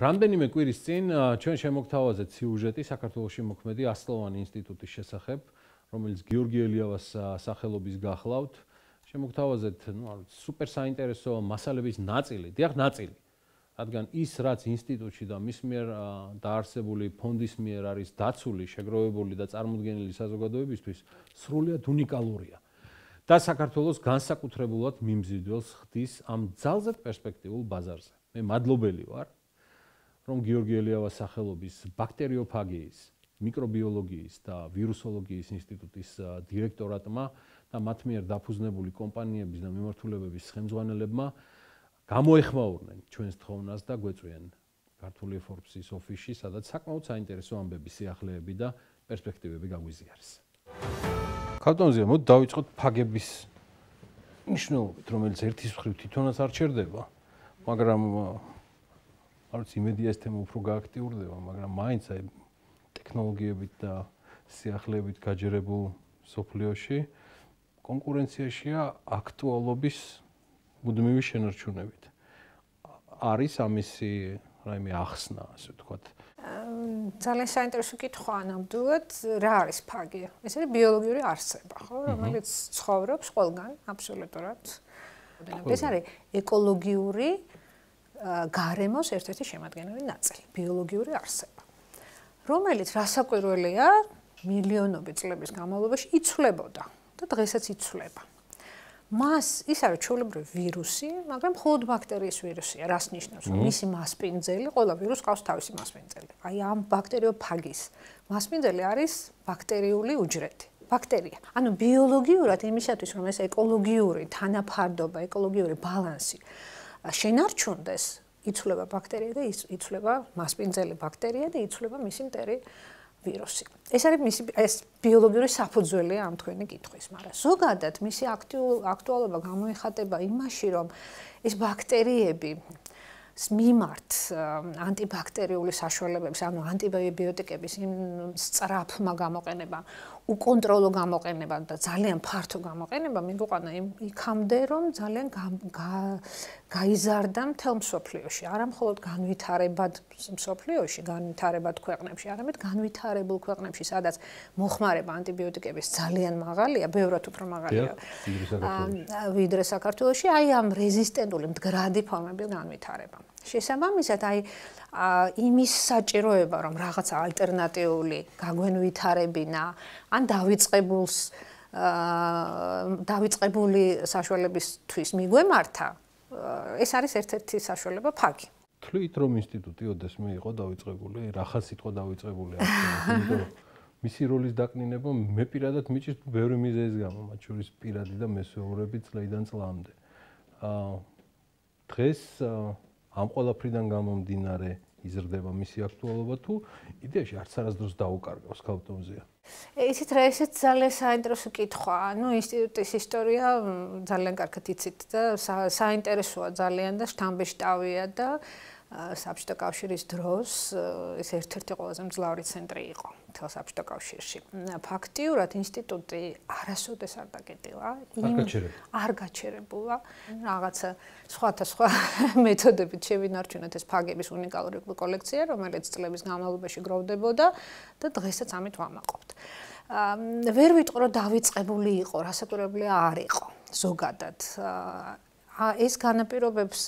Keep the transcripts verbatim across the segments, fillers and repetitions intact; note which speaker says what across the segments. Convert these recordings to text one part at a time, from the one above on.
Speaker 1: რამდენიმე კვირის წინ ჩვენ შემოგთავაზეთ სიუჟეტი საქართველოში მოქმედი ასწლოვანი ინსტიტუტის შესახებ, რომელიც გიორგი ელიავას სახელობის გახლავთ. შემოგთავაზეთ, ну, სუპერ საინტერესო მასალების ნაწილი, დიახ, ნაწილი. რადგან ის, რაც ინსტიტუტში და მის მიერ დაარსებული ფონდის მიერ არის დაცული, შეგროვებული და წარმოდგენილი საზოგადოებისთვის, სრულიად უნიკალურია. და საქართველოს განსაკუთრებულად მიმზიდველს ხდის ამ ძალზედ პერსპექტიულ ბაზარზე. მე მადლობელი ვარ, რომ გიორგი ელიავას სახელობის ბაქტერიოფაგიის, მიკრობიოლოგიის და ვირუსოლოგიის ინსტიტუტის დირექტორატმა და მათ მიერ დაფუძნებული კომპანიების და მიმართულებების ხელმძღვანელებმა გამოეხმაურნენ ჩვენს თხოვნას და გვეწვიან ქართული Forbes-ის ოფისში, სადაც საკმაოდ საინტერესო ამბები, სიახლეები და პერსპექტივები გაგვიზიარეს. ქალბატონზია, მოდი დავიწყოთ ფაგების მნიშვნელობით, რომელიც ერთის მხრივ თვითონაც არ ჩერდება, მაგრამ არც იმედია ეს თემა უფრო გააქტიურდება, მაგრამ მაინც აი ტექნოლოგიებით და სიახლეებით გაჯერებულ სოფლიოში კონკურენციაშია აქტუალობის მუდმივი შენარჩუნებით. არის ამისი რაიმე ახსნა, ასე ვთქვათ.
Speaker 2: ძალიან საინტერესო კითხვა ნამდვილად, რა არის ფაგი? ეს არის ბიოლოგიური არსება, ხო, რომელიც ცხოვრობს ყველგან, აბსოლუტურად. ეს არის ეკოლოგიური გარემოს ერთ-ერთი შემადგენელი ნაწილი, ბიოლოგიური არსება, რომელიც რასაკვირველია, მილიონობით წლების განმავლობაში იცვლებოდა და დღესაც იცვლება. მას ის არის ჩვეულებრივი ვირუსი, მაგრამ მხოლოდ ბაქტერიის ვირუსია, რას ნიშნავს, რომ მისი მასპინძელი, ყველა ვირუსს ყავს თავისი მასპინძელი. აი ამ ბაქტერიოფაგის მასპინძელი არის ბაქტერიული უჯრედი, ბაქტერია. ანუ ბიოლოგიურად იმისათვის, რომ ეს ეკოლოგიური თანაფარდობა, ეკოლოგიური ბალანსი შენარჩუნდეს, იცვლება ბაქტერია და იცვლება მასპინძელი ბაქტერია და იცვლება მისი მტერი ვირუსი. ეს არის მისი ეს ბიოლოგიური საფუძველია ამ თქვენი კითხვის, მაგრამ ზოგადად მისი აქტუალობა გამოიხატება იმაში, რომ ეს ბაქტერიები მიმართ ანტიბაქტერიული საშუალებების, ანუ ანტიბიოტიკების იმ სწრაფმა გამოყენებამ, უკონტროლო გამოყენებამ და ძალიან ფართო გამოყენებამ მიგვიყვანა იქამდე, რომ ძალიან გაიზარდა მთელ მსოფლიოში, არა მხოლოდ განვითარებად მსოფლიოში, განვითარებად ქვეყნებში, არამედ განვითარებულ ქვეყნებში, სადაც მოხმარება ანტიბიოტიკების ძალიან მაღალია, ბევრად უფრო მაღალია ვიდრე საქართველოში, აი ამ რეზისტენტული მდგრადი ფორმების განვითარება. შესაბამისად, აი იმის საჭიროება, რომ რაღაც ალტერნატიული გაგვენვითარებინა, ან დავიწყებულს დავიწყებული საშუალებისთვის მიგვემართა, ეს არის ერთ-ერთი საშუალება ფაგი.
Speaker 1: თვლით, რომ ინსტიტუტი ოდესმე იყო დავიწყებული, რახან სიტყვა დავიწყებული აქვს, იმიტომ რომ მისი როლის დაკნინება მე პირადად მიჭირს ბევრი მიზეზის გამო, მათ შორის პირადი და მესვეურები წლიდან წლამდე. დღეს ამ ყველაფრიდან გამომდინარე იზრდება მისი აქტუალობა თუ იდეაში არც არასდროს დაუკარგავს ქალბატონზია?
Speaker 2: ისიც რა, ესეც ძალიან საინტერესო კითხვაა. ნუ ინსტიტუტის ისტორია ძალიან კარგად იცით და საინტერესოა ძალიან და შთამბეჭდავია და საბჭოთა კავშირის დროს ეს ერთ-ერთი ყველაზე მძლავრი ცენტრი იყო მთელ საბჭოთა კავშირში. ფაქტიურად ინსტიტუტი არასოდეს არ დაკეტილა, არ გაჩერებულა. რაღაცა სხვათა სხვა მეთოდებით შევინარჩუნეთ ეს ფაგების უნიკალური კოლექცია, რომელიც წლების განმავლობაში გროვდებოდა და დღესაც ამით ვამაყობთ. ვერ ვიტყვი, რომ დავიწყებული იყო, რასაკვირველია არ იყო ზოგადად. ეს განაპირობებს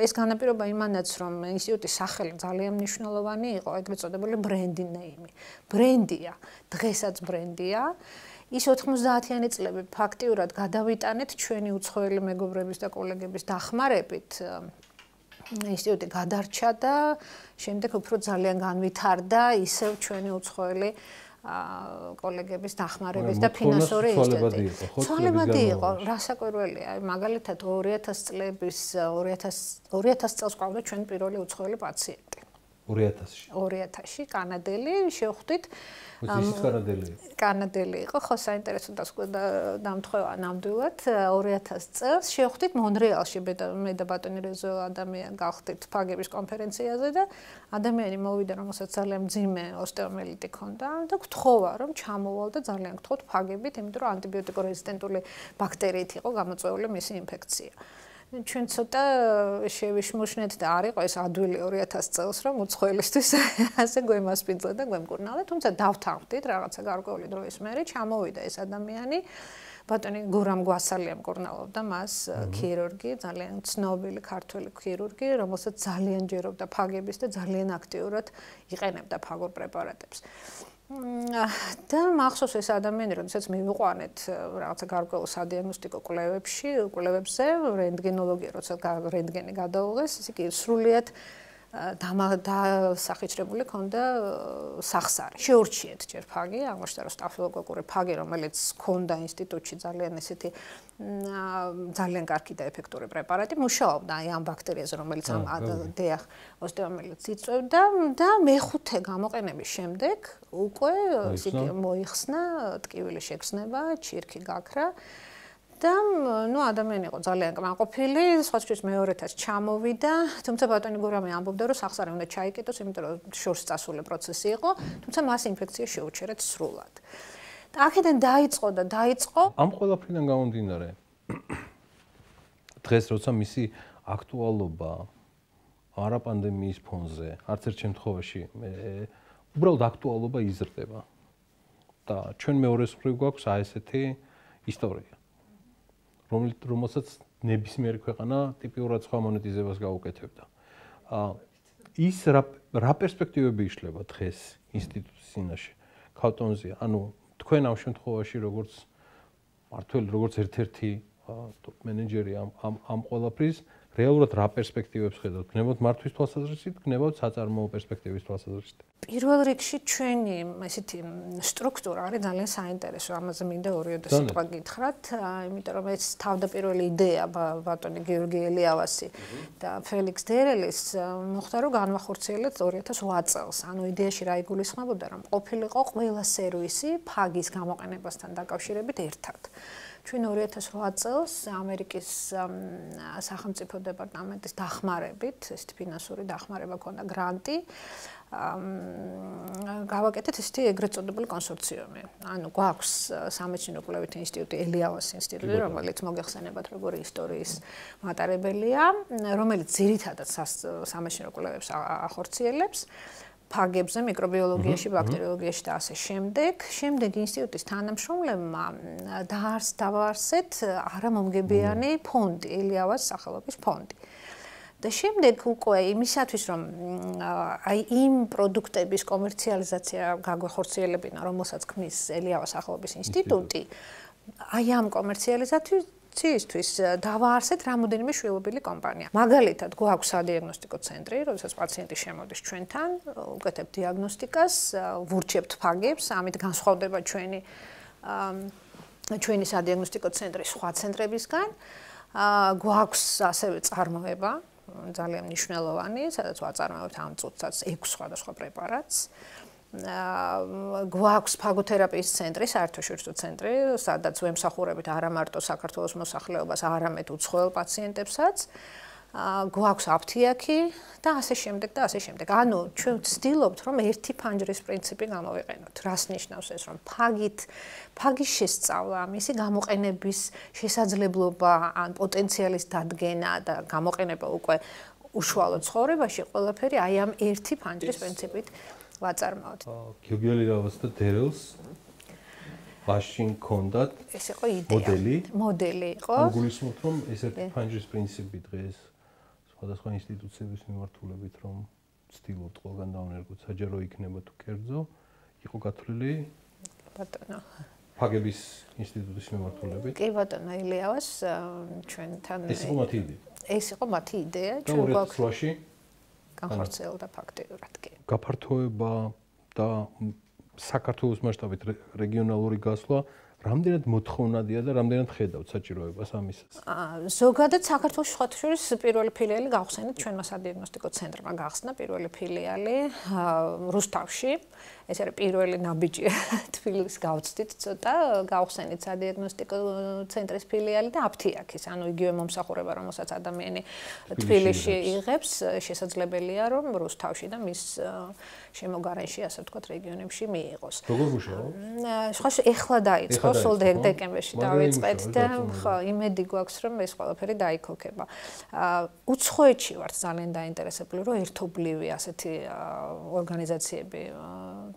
Speaker 2: ეს განაპირობა იმანაც, რომ ინსტიტუტის სახელი ძალიან მნიშვნელოვანი იყო, ეგრეთ წოდებული ბრენდი ნეიმი. ბრენდია, დღესაც ბრენდია. ის ოთხმოცდაათიანი წლები ფაქტიურად გადავიტანეთ ჩვენი უცხოელი მეგობრების და კოლეგების დახმარებით. ინსტიტუტი გადარჩა და შემდეგ უფრო ძალიან განვითარდა ისევ ჩვენი უცხოელი კოლეგების დახმარების და ფინანსური ინსტიტუტი. ცვალებადი იყო, რასაკვირველია, მაგალითად ორი ათასი წლების ორი ათასი წელს ყავდა ჩვენ პირველი უცხოელი პაციენტი.
Speaker 1: ორი ათასში.
Speaker 2: ორი ათასში კანადელი, შევხვდით.
Speaker 1: ისიც კანადელი იყო.
Speaker 2: კანადელი იყო, ხო, საინტერესო დამთხოვა ნამდვილად. ორი ათასი წელს შევხვდით მონრეალში, მე და ბატონი რეზო ადამიანი გავხდით ფაგების კონფერენციაზე და ადამიანი მოვიდა, რომელსაც ძალიან მძიმე ოსტეომიელიტი ჰქონდა და გთხოვა, რომ ჩამოვალ და ძალიან გთხოვთ ფაგებით, იმიტომ რომ ანტიბიოტიკო რეზისტენტული ბაქტერიით იყო გამოწვეული მისი ინფექცია. ჩვენ ცოტა შევიშმუშნეთ და არ იყო ეს ადვილი ორი ათასი წელს რომ უცხოელისთვის ასე გვემასპინძლა და გვემკურნალა, თუმცა დავთანხმდით რაღაცა გარკვეული დროის მერე ჩამოვიდა ეს ადამიანი. ბატონი გურამ გვასალია მკურნალობდა მას, ქირურგი, ძალიან ცნობილი ქართველი ქირურგი, რომელსაც ძალიან ჯერობდა ფაგების და ძალიან აქტიურად იყენებდა ფაგურ პრეპარატებს. და მახსოვს ეს ადამიანი, როდესაც მივიყვანეთ რაღაცა გარკვეულ სადიაგნოსტიკო კვლევებში, კვლევებზე, რენტგენოლოგია, როცა რენტგენი გადაუღეს, ისე კი სრულიად დასახიჩრებული ქონდა სახსარი. შეურჩიეთ ჯერ ფაგი, აღმოჩნდა რომ სტაფილოკოკური ფაგი, რომელიც ქონდა ინსტიტუტში ძალიან ესეთი ძალიან კარგი და ეფექტური პრეპარატი, მუშაობდა აი ამ ბაქტერიაზე, რომელიც ამ დიახ, ოსტეომიელიტს იწვევდა და მეხუთე გამოყენების შემდეგ უკვე ისეთი მოიხსნა ტკივილი შეგრძნება, ჩირქი გაქრა. და ნუ ადამიანი იყო ძალიან კმაყოფილი, სხვათვის მეორეთაც ჩამოვიდა, თუმცა ბატონი გურამი ამბობდა, რომ სახსარი უნდა ჩაიკეტოს, იმიტომ რომ შორს წასული პროცესი იყო, თუმცა მას ინფექცია შეუჩერეთ სრულად. და აქედან დაიწყო და დაიწყო.
Speaker 1: ამ ყველაფრიდან გამომდინარე, დღეს როცა მისი აქტუალობა არაპანდემიის ფონზე, არც ერთ შემთხვევაში უბრალოდ აქტუალობა იზრდება. და ჩვენ მეორეს მხრივ გვაქვს აი ესეთი ისტორია. რომელსაც ნებისმიერი ქვეყანა ტიპიურად სხვა მონეტიზებას გაუკეთებდა. ის რა პერსპექტივები იშლება დღეს ინსტიტუტის წინაშე ქავტონზე? ანუ თქვენ ამ შემთხვევაში როგორც მართველი, როგორც ერთ-ერთი ტოპ მენეჯერი ამ ამ ყველაფრის რეალურად რა პერსპექტივებს ხედავთ? გნებავთ მართვის თვალსაზრისით, გნებავთ საწარმოო პერსპექტივის თვალსაზრისით?
Speaker 2: პირველ რიგში ჩვენი ესეთი სტრუქტურა არის ძალიან საინტერესო, ამაზე მინდა ორიოდე სიტყვა გითხრათ, იმიტომ რომ ეს თავდაპირველი იდეა ბატონი გიორგი ელიავასი და ფელიქს დერელის მოხდა რომ განვახორციელეთ ორი ათას ოთხ წელს. ანუ იდეაში რა იგულისხმებოდა, რომ ყოფილიყო ყველა სერვისი ფაგის გამოყენებასთან დაკავშირებით ერთად. ჩვენ ორი ათას ოთხ წელს ამერიკის სახელმწიფო დეპარტამენტის დახმარებით, ესეთი ფინანსური დახმარება ქონდა, გრანტი, გავაკეთეთ ესეთი ეგრეთ წოდებული კონსორციუმი. ანუ გვაქვს სამეცნიერო კვლევითი ინსტიტუტი, ელიავას ინსტიტუტი, რომელიც მოგეხსენებათ როგორი ისტორიის მატარებელია, რომელიც ძირითადად სამეცნიერო კვლევებს ახორციელებს. ფაგებზე, მიკრობიოლოგიაში, ბაქტერიოლოგიაში და ასე შემდეგ. შემდეგ ინსტიტუტის თანამშრომლებმა დაარსეთ არამომგებიანი ფონდი, ელიავას სახელობის ფონდი. და შემდეგ უკვე იმისათვის, რომ აი იმ პროდუქტების კომერციალიზაცია გაგვეხორციელებინა, რომელსაც ქმნის ელიავას სახელობის ინსტიტუტი, აი ამ კომერციალიზაციის ცისთვის დავაარსეთ რამოდენიმე შვილობილი კომპანია. მაგალითად, გვაქვს სადიაგნოსტიკო ცენტრი, როდესაც პაციენტი შემოდის ჩვენთან, უკეთებთ დიაგნოსტიკას, ვურჩებთ ფაგებს, ამით განსხვავდება ჩვენი ჩვენი სადიაგნოსტიკო ცენტრი სხვა ცენტრებისგან. გვაქვს ასევე წარმოება, ძალიან მნიშვნელოვანი, სადაც ვაწარმოებთ ამ წუთსაც ექვს სხვადასხვა პრეპარატს. გვაქვს ფაგოთერაპიის ცენტრი, საერთაშორისო ცენტრი, სადაც ვემსახურებით არა მარტო საქართველოს მოსახლეობას, არამედ უცხოელ პაციენტებსაც. გვაქვს აფთიაქი და ასე შემდეგ და ასე შემდეგ. ანუ ჩვენ ვცდილობთ, რომ ერთი ფანჯრის პრინციპი გამოვიყენოთ. რას ნიშნავს ეს, რომ ფაგით, ფაგის შესწავლა, მისი გამოყენების შესაძლებლობა, ან პოტენციალის დადგენა და გამოყენება უკვე უშუალო ცხოვრებაში, ყველაფერი აი ამ ერთი ფანჯრის პრინციპით ვაწარმოოთ.
Speaker 1: გიორგი ელიავას და დერელს მაშინ ქონდათ
Speaker 2: ეს იყო იდეა.
Speaker 1: მოდელი.
Speaker 2: მოდელი იყო.
Speaker 1: გულისხმობთ, რომ ეს ერთი ფანჯრის პრინციპი დღეს სხვადასხვა ინსტიტუციების მიმართულებით, რომ ცდილობთ ყველგან დავნერგოთ, საჯარო იქნება თუ კერძო, იყო გათვლილი
Speaker 2: ბატონო.
Speaker 1: ფაგების ინსტიტუტის მიმართულებით.
Speaker 2: კი ბატონო ელიავას ჩვენთან
Speaker 1: ეს იყო მათი იდეა.
Speaker 2: ეს იყო მათი იდეა,
Speaker 1: ჩვენ გვაქვს
Speaker 2: განხორციელდა ფაქტიურად კი.
Speaker 1: გაფართოება და საქართველოს მასშტაბით რეგიონალური გასვლა რამდენად მოთხოვნადია და რამდენად ხედავთ საჭიროებას ამისას?
Speaker 2: ზოგადად საქართველოს შუათშორის პირველი ფილიალი გავხსენეთ ჩვენმა სადიაგნოსტიკო ცენტრმა გახსნა პირველი ფილიალი რუსთავში. ეს არის პირველი ნაბიჯი თბილისს გავწდით ცოტა, გავხსენით სადიაგნოსტიკო ცენტრის ფილიალი და აფთიაქის, ანუ იგივე მომსახურება, რომელსაც ადამიანი თბილისში იღებს, შესაძლებელია რომ რუსთავში და მის შემოგარენში, ასე ვთქვათ, რეგიონებში მიიღოს.
Speaker 1: როგორ მუშაობს?
Speaker 2: სხვა ეხლა დაიწყო ხო, სულ დეკემბერში დავიწყეთ და ხო, იმედი გვაქვს, რომ ეს ყველაფერი დაიქოქება. აა უცხოეთში ვართ ძალიან დაინტერესებული, რომ ერთობლივი ასეთი ორგანიზაციები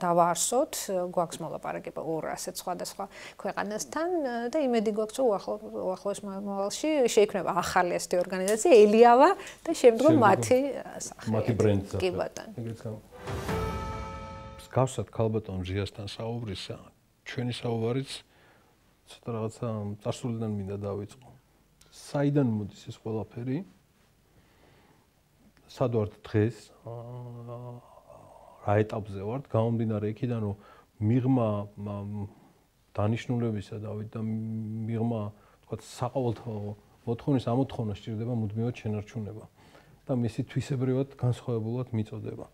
Speaker 2: დავაარსოთ, გვაქვს მოლაპარაკება ორ ასეთ სხვადასხვა ქვეყანასთან და იმედი გვაქვს, რომ უახლოეს მომავალში შეიქმნება ახალი ასეთი ორგანიზაცია, ელიავა და შემდგომ მათი სახე.
Speaker 1: მათი ბრენდი სახე.
Speaker 2: კი ბატონო.
Speaker 1: ეგეც გამ. გავსად ქალბატონ ჟიასთან საუბრისა, ჩვენი საუბარიც ცოტა რაღაცა წარსულიდან მინდა დავიწყო. საიდან მოდის ეს ყველაფერი? სად ვართ დღეს? რა ეტაპზე ვართ? გამომდინარე იქიდან, რომ მიღმა დანიშნულებისა დავით და მიღმა, თქვა, საყოველთაო მოთხოვნის ამოთხოვნა სჭირდება მუდმივად შენარჩუნება და მისი თვისებრივად განსხვავებულად მიწოდება.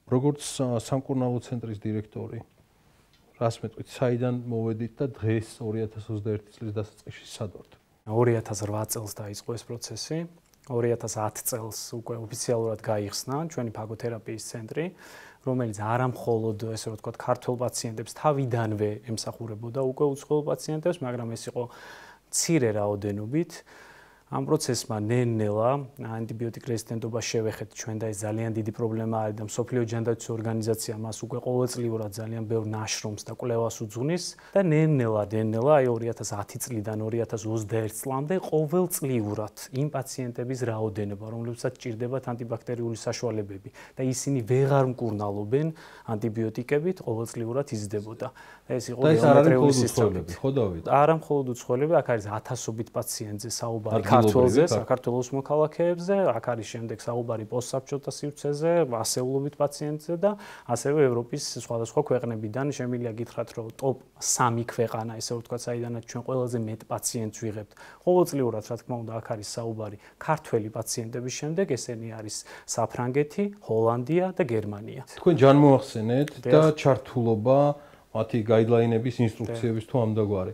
Speaker 1: როგორც სამკურნალო ცენტრის დირექტორი, რას მეტყვით, საიდან მოვედით და დღეს ორი ათას ოცდაერთი წლის დასაწყისში სად ვართ?
Speaker 3: ორი ათას რვა წელს დაიწყო ეს პროცესი. ორი ათას ათი წელს უკვე ოფიციალურად გაიხსნა ჩვენი ფაგოთერაპიის ცენტრი, რომელიც არა მხოლოდ ესე რომ ვთქვათ, ქართველ პაციენტებს თავიდანვე ემსახურებოდა უკვე უცხოელ პაციენტებს, მაგრამ ეს იყო მცირე რაოდენობით. ამ პროცესმა ნელ-ნელა ანტიბიოტიკ რეზისტენტობა შევეხეთ ჩვენ და ეს ძალიან დიდი პრობლემა არის და მსოფლიო ჯანდაცვის ორგანიზაცია მას უკვე ყოველწლიურად ძალიან ბევრ ნაშრომს და კვლევას უძღვნის და ნელ-ნელა ნელ-ნელა აი ორი ათას ათი წლიდან ორი ათას ოცდაერთი წლამდე ყოველწლიურად იმ პაციენტების რაოდენობა, რომლებსაც ჭირდებათ ანტიბაქტერიული საშუალებები და ისინი ვეღარ მკურნალობენ ანტიბიოტიკებით, ყოველწლიურად იზრდებოდა. და ეს იყო ბიომეტრიული სისტემები.
Speaker 1: ხო დავით?
Speaker 3: არა მხოლოდ უცხოელები, აქ არის ათასობით პაციენტზე საუბარი ქართველზე, საქართველოს მოქალაქეებზე, აქ არის შემდეგ საუბარი პოსტსაბჭოთა სივრცეზე, ასეულობით პაციენტზე და ასევე ევროპის სხვადასხვა ქვეყნებიდან შემიძლია გითხრათ, რომ ტოპ სამი ქვეყანა, ესე ვთქვათ, საიდანაც ჩვენ ყველაზე მეტ პაციენტს ვიღებთ. ყოველწლიურად, რა თქმა უნდა, აქ არის საუბარი ქართველი პაციენტების შემდეგ, ესენი არის საფრანგეთი, ჰოლანდია და გერმანია.
Speaker 1: თქვენ ჯანმოახსენეთ და ჩართულობა მათი გაიდლაინების, ინსტრუქციების თუ ამდაგვარი.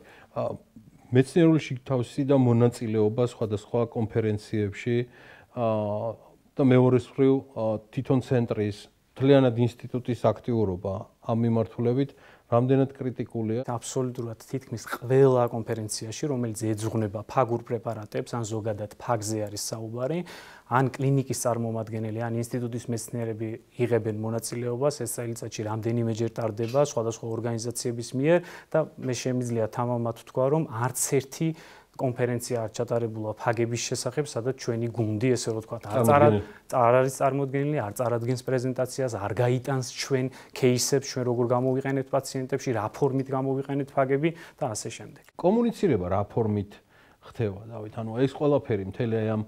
Speaker 1: მეცნიერული შიგთავსი და მონაწილეობა სხვადასხვა კონფერენციებში და მეორე მხრივ თვითონ ცენტრის მთლიანად ინსტიტუტის აქტიურობა ამ მიმართულებით რამდენად კრიტიკულია?
Speaker 3: აბსოლუტურად თითქმის ყველა კონფერენციაში, რომელიც ეძღვნება ფაგურ პრეპარატებს, ან ზოგადად ფაგზე არის საუბარი, ან კლინიკის წარმომადგენელი, ან ინსტიტუტის მეცნიერები იღებენ მონაწილეობას, ეს წელიწადში რამდენიმეჯერ ტარდება სხვადასხვა ორგანიზაციების მიერ და მე შემიძლია თამამად ვთქვა, რომ არც ერთი კონფერენცია არ ჩატარებულა ფაგების შესახებ, სადაც ჩვენი გუნდი, ესე რომ ვთქვათ, არ არის წარმოდგენილი, არ წარადგენს პრეზენტაციას, არ გაიტანს ჩვენ кейსებს, ჩვენ როგორ გამოვიყენებთ პაციენტებში, რა ფორმით გამოვიყენებთ ფაგები და ასე შემდეგ.
Speaker 1: კომუნიცირება რა ფორმით ხდება, დავით? ანუ ეს ყველაფერი მთელი აი ამ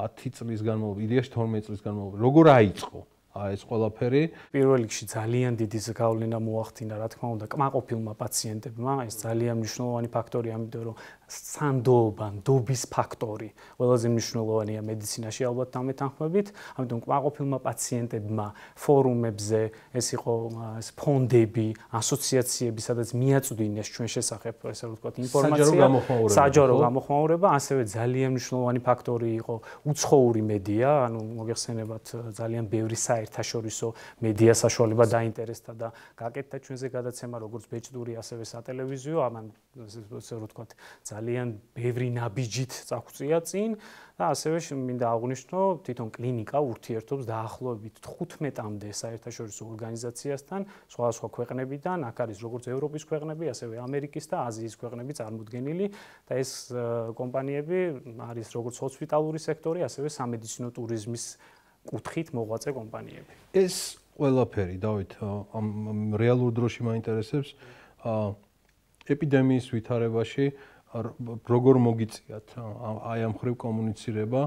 Speaker 1: ათი წლის განმავლობაში, იდეაში თორმეტი წლის განმავლობაში, როგორ აიწყო ეს ყველაფერი?
Speaker 3: პირველ რიგში ძალიან დიდი გავლენა მოახდინა, რა თქმა უნდა, კმაყოფილმა პაციენტებმა, ეს ძალიან მნიშვნელოვანი ფაქტორია, ამიტომ რომ სანდოობა, ნდობის ფაქტორი ყველაზე მნიშვნელოვანია მედიცინაში ალბათ დამეთანხმებით, ამიტომ კმაყოფილმა პაციენტებმა ფორუმებზე, ეს იყო ეს ფონდები, ასოციაციები, სადაც მიაწვდინეს ჩვენ შესახებ, ესე რომ ვთქვათ, ინფორმაცია, საჯარო გამოხმაურება, ასევე ძალიან მნიშვნელოვანი ფაქტორი იყო უცხოური მედია, ანუ მოგეხსენებათ ძალიან ბევრი საერთაშორისო მედია საშუალება დაინტერესდა და გაკეთდა ჩვენზე გადაცემა, როგორც ბეჭდური, ასევე სატელევიზიო, ამან ესე რომ ვთქვათ, ძალიან ბევრი ნაბიჯით წაგვწია წინ და ასევე მინდა აღვნიშნო, თვითონ კლინიკა ურთიერთობს დაახლოებით თხუთმეტამდე საერთაშორისო ორგანიზაციასთან, სხვადასხვა ქვეყნებიდან, აქ არის როგორც ევროპის ქვეყნები, ასევე ამერიკის და აზიის ქვეყნები წარმოდგენილი და ეს კომპანიები არის როგორც ჰოსპიტალური სექტორი, ასევე სამედიცინო ტურიზმის კუთხით მოღვაწე კომპანიები.
Speaker 1: ეს ყველაფერი, დავით, ამ რეალურ დროში მაინტერესებს ეპიდემიის ვითარებაში როგორ მოგიწიათ აი ამ ხრივ კომუნიცირება,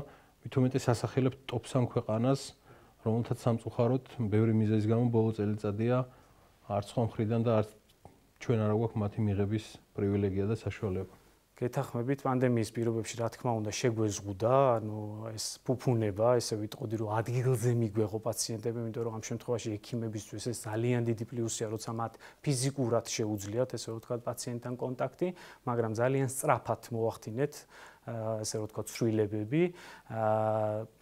Speaker 1: მით უმეტეს ასახელებთ ტოპ სამ ქვეყანას, რომელთაც სამწუხაროდ ბევრი მიზეზის გამო ბოლო წელიწადია არც სხვა მხრიდან და არც ჩვენ არ გვაქვს მათი მიღების პრივილეგია და საშუალება.
Speaker 3: გეთახმებით პანდემიის პირობებში, რა თქმა უნდა, შეგვეზღუდა, ანუ ეს ფუფუნება, ესე ვიტყოდი, რომ ადგილზე მიგვეღო პაციენტები, იმიტომ რომ ამ შემთხვევაში ექიმებისთვის ეს ძალიან დიდი პლუსია, როცა მათ ფიზიკურად შეუძლიათ, ესე ვთქვათ, პაციენტთან კონტაქტი, მაგრამ ძალიან სწრაფად მოახდინეთ ესე რომ ვთქვათ, ცვლილებები.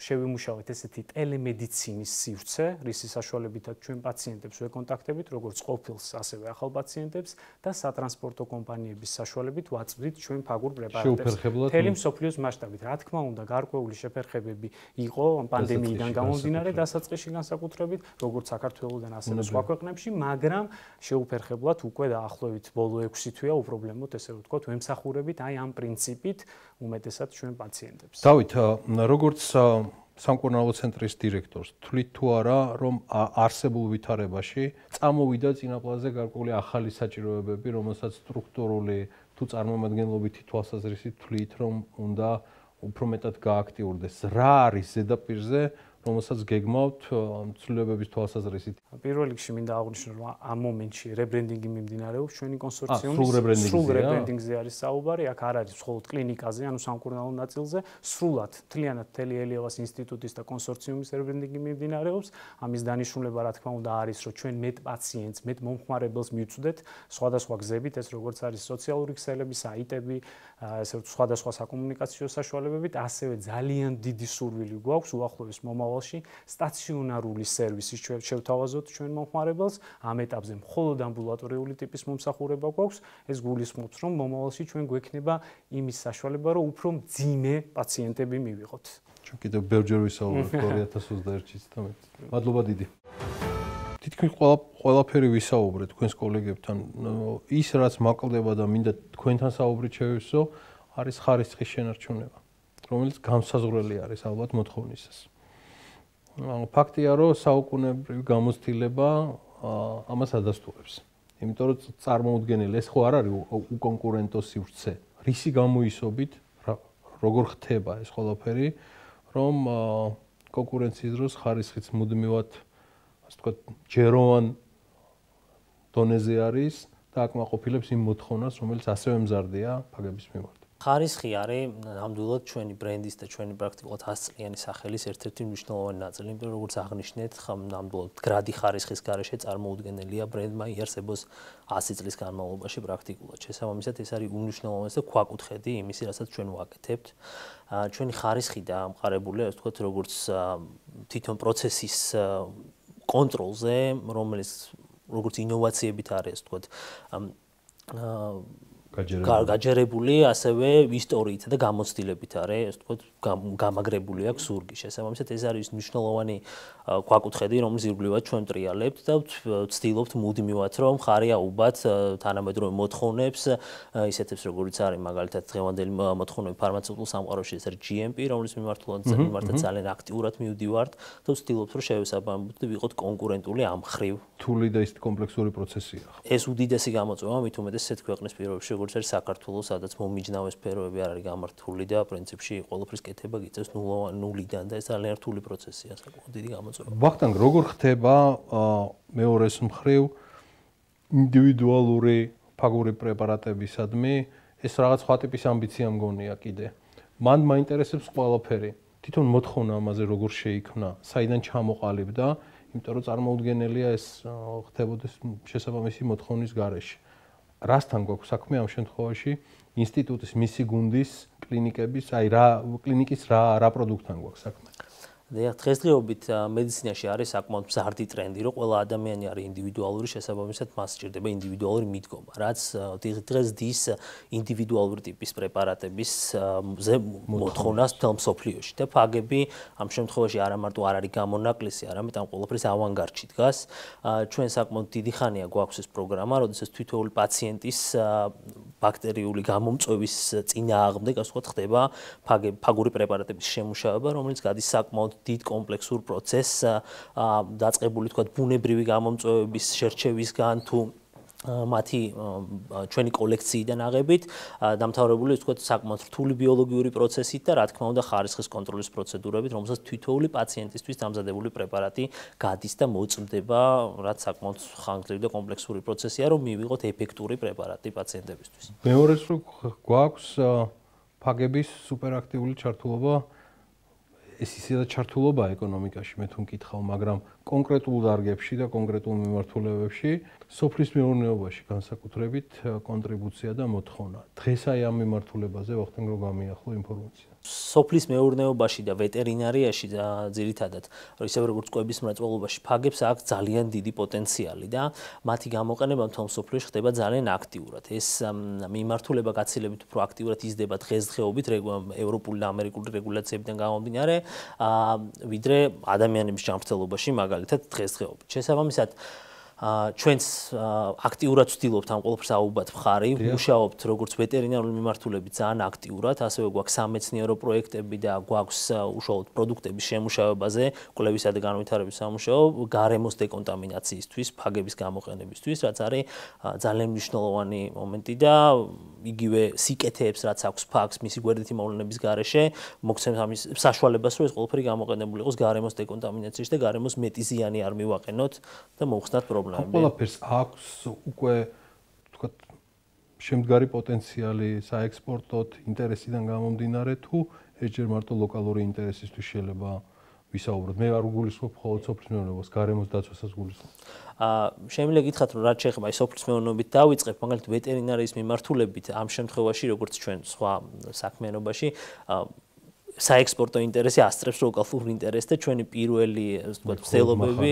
Speaker 3: შევიმუშავეთ ესეთი ტელემედიცინის სივრცე, რისი საშუალებითაც ჩვენ პაციენტებს ვეკონტაქტებით, როგორც ყოფილს, ასევე ახალ პაციენტებს და სატრანსპორტო კომპანიების საშუალებით ვაწვდით ჩვენ ფაგურ პრეპარატებს. მთელი მსოფლიოს მასშტაბით, რა თქმა უნდა, გარკვეული შეფერხებები იყო პანდემიიდან გამომდინარე დასაწყისში განსაკუთრებით, როგორც საქართველოსთან, ასევე სხვა ქვეყნებში, მაგრამ შეუფერხებლად უკვე დაახლოებით ბოლო ექვსი თვეა უპრობლემოდ, ესე ვთქვათ, ვემსახურებით აი ამ პრინციპით უმეტესად ჩვენ პაციენტებს.
Speaker 1: დავით, როგორც სამკურნალო ცენტრის დირექტორს, თვლით თუ არა, რომ არსებულ ვითარებაში წამოვიდა წინაპლაზე გარკვეული ახალი საჭიროებები, რომელსაც სტრუქტურული თუ წარმომადგენლობითი თვალსაზრისით თვლით, რომ უნდა უფრო მეტად გააქტიურდეს. რა არის ზედაპირზე, რომელსაც გეგმავთ ცვლილებების თვალსაზრისით?
Speaker 3: პირველ რიგში მინდა აღვნიშნო, რომ ამ მომენტში რებრენდინგი მიმდინარეობს ჩვენი კონსორციუმის.
Speaker 1: სრულ
Speaker 3: რებრენდინგზე არის საუბარი, აქ არ არის მხოლოდ კლინიკაზე, ანუ სამკურნალო ნაწილზე, სრულად მთლიანად მთელი ელიავას ინსტიტუტის და კონსორციუმის რებრენდინგი მიმდინარეობს. ამის დანიშნულება, რა თქმა უნდა, არის, რომ ჩვენ მეტ პაციენტს, მეტ მომხმარებელს მივწვდეთ სხვადასხვა გზებით, ეს როგორც არის სოციალური ქსელები, საიტები, ესე ვთქვათ, სხვადასხვა საკომუნიკაციო საშუალებებით, ასევე ძალიან დიდი სურვილი გვაქვს უახლოეს მომავალში სტაციონარული სერვისის შევთავაზოთ ჩვენ მომხმარებელს. ამ ეტაპზე მხოლოდ ამბულატორიული ტიპის მომსახურება გვაქვს. ეს გულისხმობს, რომ მომავალში ჩვენ გვექნება იმის საშუალება, რომ უფრო მძიმე პაციენტები მივიღოთ.
Speaker 1: ჩვენ კიდევ ბევრჯერ ვისაუბრეთ ორი ათას ოცდაერთში და მე. მადლობა დიდი. თითქმის ყველა ყველაფერი ვისაუბრეთ თქვენს კოლეგებთან. ის რაც მაკლდება და მინდა თქვენთან საუბრით შევივსო, არის ხარისხის შენარჩუნება, რომელიც განსაზღვრელი არის ალბათ მოთხოვნისას. ფაქტია, რომ საუკუნეებრივი გამოცდილება ამას ადასტურებს. იმიტომ რომ წარმოუდგენელი ეს ხო არ არის უკონკურენტო სივრცე. რისი გამოისობით, როგორ ხდება ეს ყველაფერი, რომ კონკურენციის დროს ხარისხიც მუდმივად, ასე ვთქვათ, ჯეროვან დონეზე არის და აკმაყოფილებს იმ მოთხოვნას, რომელიც ასევე მზარდია ფაგების მიმართ.
Speaker 4: ხარისხი არის ნამდვილად ჩვენი ბრენდის და ჩვენი პრაქტიკულად ასწლიანი სახელის ერთ-ერთი მნიშვნელოვანი ნაწილი, იმიტომ რომ როგორც აღნიშნეთ, ნამდვილად გრადი ხარისხის გარეშე წარმოუდგენელია ბრენდმა იარსებოს ასი წლის განმავლობაში პრაქტიკულად. შესაბამისად, ეს არის უმნიშვნელოვანესი და ქვაკუთხედი იმისი, რასაც ჩვენ ვაკეთებთ. ჩვენი ხარისხი დაამყარებულია, ასე ვთქვათ, როგორც თვითონ პროცესის კონტროლზე, რომელიც როგორც ინოვაციებით არის, ასე ვთქვათ, გაჯერებული, ასევე ისტორიით და გამოცდილებით არის, ასე ვთქვათ, გამაგრებული აქვს ზურგი. შესაბამისად, ეს არის მნიშვნელოვანი ქვაკუთხედი, რომელიც ირგვლივად ჩვენ ტრიალებთ და ვცდილობთ მუდმივად, რომ ხარი აუბათ თანამედროვე მოთხოვნებს, ისეთებს, როგორიც არის მაგალითად დღევანდელი მოთხოვნები ფარმაცევტულ სამყაროში, ეს არის ჯი ემ პი, რომლის მიმართულებით ძალიან აქტიურად მივდივართ და ვცდილობთ, რომ შევესაბამებოდ და ვიყოთ კონკურენტული ამ მხრივ.
Speaker 1: რთული და ისეთი კომპლექსური პროცესია.
Speaker 4: ეს უდიდესი გამოწვევა, მით უმეტეს ესეთ ქვეყნის პირობებში, როგორც არის საქართველოს, სადაც მომიჯნავე სფეროები არ არის გამართული და პრინციპში ყველაფრის კეთება გიწევს ნულიდან და ეს ძალიან რთული პროცესია, საკმაოდ დიდი გამოწვევა.
Speaker 1: ვახტანგ, როგორ ხდება მეორეს მხრივ ინდივიდუალური ფაგური პრეპარატებისადმი, ეს რაღაც სხვა ტიპის ამბიცია მგონია კიდე. მან მაინტერესებს ყველაფერი. თვითონ მოთხოვნა ამაზე როგორ შეიქმნა, საიდან ჩამოყალიბდა, იმიტომ რომ წარმოუდგენელია ეს ხდებოდეს შესაბამისი მოთხოვნის გარეშე. რასთან გვაქვს საქმე ამ შემთხვევაში ინსტიტუტის მისი გუნდის კლინიკების, აი რა კლინიკის რა რა პროდუქტთან გვაქვს საქმე?
Speaker 4: დღესდღეობით მედიცინაში არის საკმაოდ მზარდი ტრენდი, რომ ყველა ადამიანი არის ინდივიდუალური, შესაბამისად მას სჭირდება ინდივიდუალური მიდგომა, რაც დღეს დის ინდივიდუალური ტიპის პრეპარატების მოთხოვნას მთელ მსოფლიოში და ფაგები ამ შემთხვევაში არა მარტო არ არის გამონაკლისი, არამედ ამ ყველაფრის ავანგარდში დგას. ჩვენ საკმაოდ დიდი ხანია გვაქვს ეს პროგრამა, როდესაც თითოეული პაციენტის ბაქტერიული გამომწვევის წინააღმდეგ, ასე ვთქვათ, ხდება ფაგური პრეპარატების შემუშავება, რომელიც გადის საკმაოდ დიდ კომპლექსურ პროცესს დაწყებული თქვა ბუნებრივი გამომწვევების შერჩევისგან თუ მათი ჩვენი კოლექციიდან აღებით დამთავრებული თქვა საკმაოდ რთული ბიოლოგიური პროცესით და რა თქმა უნდა ხარისხის კონტროლის პროცედურებით, რომელსაც თითოეული პაციენტისთვის დამზადებული პრეპარატი გადის და მოწმდება, რაც საკმაოდ ხანგრძლივი და კომპლექსური პროცესია, რომ მივიღოთ ეფექტური პრეპარატი პაციენტებისთვის.
Speaker 1: მეორეს რო გვაქვს ფაგების სუპერაქტიული ჩართულობა ეს ისედაც ჩართულობა ეკონომიკაში, მე თუ მკითხავ, მაგრამ კონკრეტულ დარგებში და კონკრეტულ მიმართულებებში სოფლის მეურნეობაში განსაკუთრებით კონტრიბუცია და მოთხოვნა. დღეს აი ამ მიმართულებაზე ვახტანგ რო გამიახლო ინფორმაცია.
Speaker 4: სოფლის მეურნეობაში და ვეტერინარიაში ძირითადად, ისევე როგორც კვების მრეწველობაში, ფაგებს აქვს ძალიან დიდი პოტენციალი და მათი გამოყენება მთელ სოფლიოში ხდება ძალიან აქტიურად. ეს მიმართულება გაცილებით უფრო აქტიურად იზრდება დღესდღეობით ევროპული და ამერიკული რეგულაციებიდან გამომდინარე, ვიდრე ადამიანების ჯანმრთელობაში, მაგალითად დღესდღეობით. შესაბამისად, ჩვენც აქტიურად ვცდილობთ ამ ყველაფერს აუბად მხარი, ვმუშაობთ როგორც ვეტერინარული მიმართულებით ძალიან აქტიურად, ასევე გვაქვს სამეცნიერო პროექტები და გვაქვს უშუალოდ პროდუქტების შემუშავებაზე, კვლევისა და განვითარების სამუშაო, გარემოს დეკონტამინაციისთვის, ფაგების გამოყენებისთვის, რაც არის ძალიან მნიშვნელოვანი მომენტი და იგივე სიკეთეებს, რაც აქვს ფაგს მისი გვერდითი მოვლენების გარეშე, მოგცემს ამის საშუალებას, რომ ეს ყველაფერი გამოყენებული იყოს გარემოს დეკონტამინაციაში და გარემოს მეტი ზიანი არ მივაყენოთ და მოხსნათ პრობლემები.
Speaker 1: ყველაფერს აქვს უკვე თქვა შემდგარი პოტენციალი საექსპორტოდ ინტერესიდან გამომდინარე თუ ეს ჯერ მარტო ლოკალური ინტერესისთვის შეიძლება ვისაუბროთ. მე არ ვგულისხმობ მხოლოდ სოფლის მეურნეობას, გარემოს დაცვასაც ვგულისხმობ.
Speaker 4: აა შემიძლია გითხრათ რომ რაც შეეხება აი სოფლის მეურნეობით დავიწყებ, მაგალითად ვეტერინარიის მიმართულებით ამ შემთხვევაში როგორც ჩვენ სხვა საქმიანობაში საექსპორტო ინტერესი ასწრებს ლოკალურ ინტერესს და ჩვენი პირველი, ასე ვთქვათ, მცდელობები,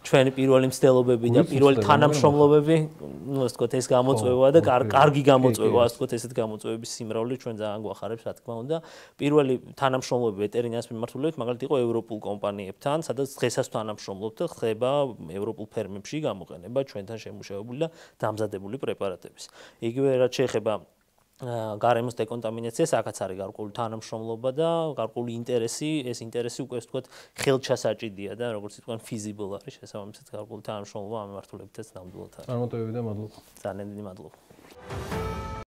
Speaker 4: ჩვენი პირველი მცდელობები და პირველი თანამშრომლობები, ну, ასე ვთქვათ, ეს გამოწვევა და კარგი გამოწვევა, ასე ვთქვათ, ესეთ გამოწვევების სიმრავლე ჩვენ ძალიან გვახარებს, რა თქმა უნდა. პირველი თანამშრომლობები ვეტერინარიის მიმართულებით, მაგალითად იყო ევროპულ კომპანიებთან, სადაც დღესაც თანამშრომლობთ და ხდება ევროპულ ფერმებში გამოყენება ჩვენთან შემუშავებული და დამზადებული პრეპარატების. იგივე რაც შეეხება გარემოს დეკონტამინაციას, აქაც არის გარკვეული თანამშრომლობა და გარკვეული ინტერესი, ეს ინტერესი უკვე ასე ვთქვათ, ხელჩასაჭიდია და როგორც ითქვან feasible არის, შესაბამისად გარკვეული თანამშრომლობა ამ მიმართულებითაც ნამდვილად არის.
Speaker 1: წარმატებები და მადლობა.
Speaker 4: ძალიან დიდი მადლობა.